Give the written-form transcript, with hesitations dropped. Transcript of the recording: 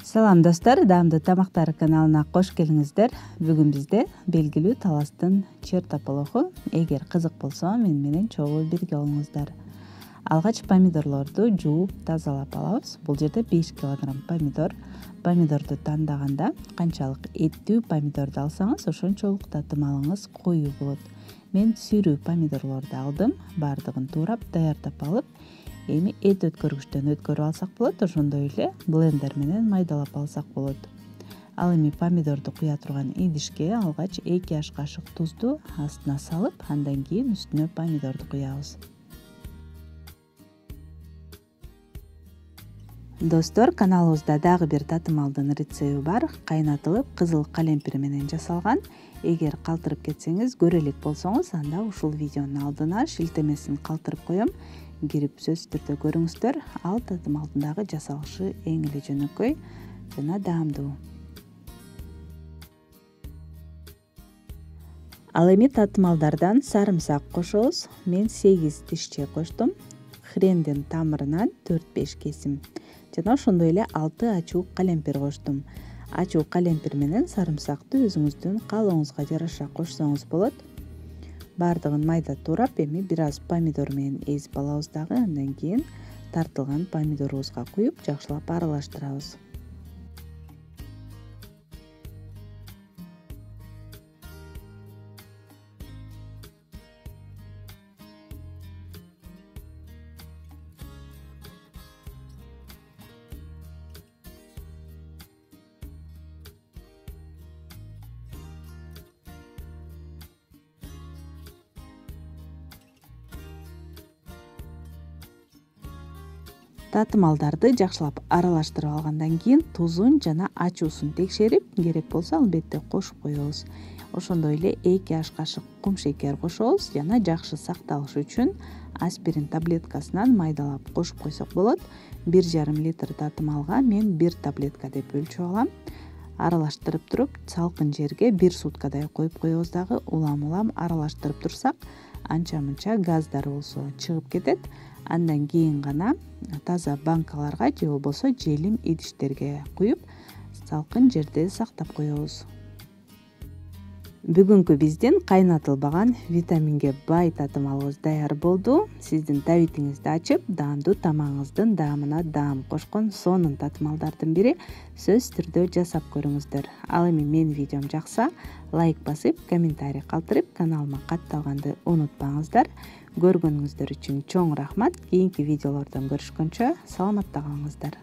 Салам достор, даамдуу тамактар каналына кош келиңиздер. Бүгүн бизде белгилүү таластын чертополоху. Эгер кызык болсо, менен чогуу бирге болуңуздар. Алгач помидорлорду жууп, тазалап алабыз. Бул жерде 5 кг помидор. Помидорду тандаганда канчалык эттүү помидорду алсаңыз, ошончолук татымалыңыз коюу болот. Мен сүрүү помидорлорду алдым, баардыгын туурап, даярдап алып, эми эт өткөргүчтөн өткөрүп алсак болот, ошондой эле блендер менен майдалап алсак болот. Ал эми помидорду куя турган идишке алгач 2 аш кашык тузду астына салып, андан кийин үстүнө помидорду куябыз. Достор, каналыбызда дагы бир татымалдын рецеби бар. Кайнатылып, кызыл калемпир менен жасалган. Эгер калтырып кетсеңиз, көрө элек болсоңуз, анда ушул видеонун алдына шилтемесин калтырып коем. Кирип сөзсүз түрдө көрүңүздөр. Ал татымалдын дагы жасалышы эң эле жөнөкөй жана даамдуу. Ал эми татымалдардан сарымсак кошобуз. Мен 8 тишче коштум. Хрендин тамырынан 4-5 кесим жана ошондой эле 6 ачуу калемпир коштум. Ачуу калемпир менен сарымсакты өзүңүздүн каалооңузга жараша кошсоңуз болот. Баардыгын майда туурап, эми бир аз помидор менен эзип алабыз дагы. Андан кийин тартылган помидорубузга куюп, жакшылап аралаштырабыз. Татымалдарды жакшылап аралаштырып алгандан кийин тузун жана ачуусун текшерип, керек болсо албетте кошуп коебуз. Ошондой эле 2 аш кашык кумшекер кошобуз жана жакшы сакталышы үчүн аспирин таблеткасынан майдалап кошуп койсок болот. 1,5 литр татымалга мен 1 таблетка деп өлчөп алам. Аралаштырып туруп, салкын жерге 1 суткадай коюп коебуз дагы. Улам аралаштырып турсак, анча-мынча газдар болсо чыгып кетет. Андан кийин гана таза банкаларга же болбосо желим идиштерге куюп, салкын жерде сактап коебуз. Бүгүнкү биздин кайнатылбаган витаминге бай татымалыбыз даяр болду. Сиздин табитиңизди ачып, даамдуу тамагыңыздын даамына даам кошкон сонун татымалдардын бири. Сөзсүз түрдө жасап көрүңүздөр. Ал эми менин видеом жакса, лайк басып, комментарий калтырып, каналыма катталганды унутпаңыздар. Көргөнүңүздөр үчүн чоң рахмат. Кийинки видеолордон көрүшкөнчө саламатта калыңыздар.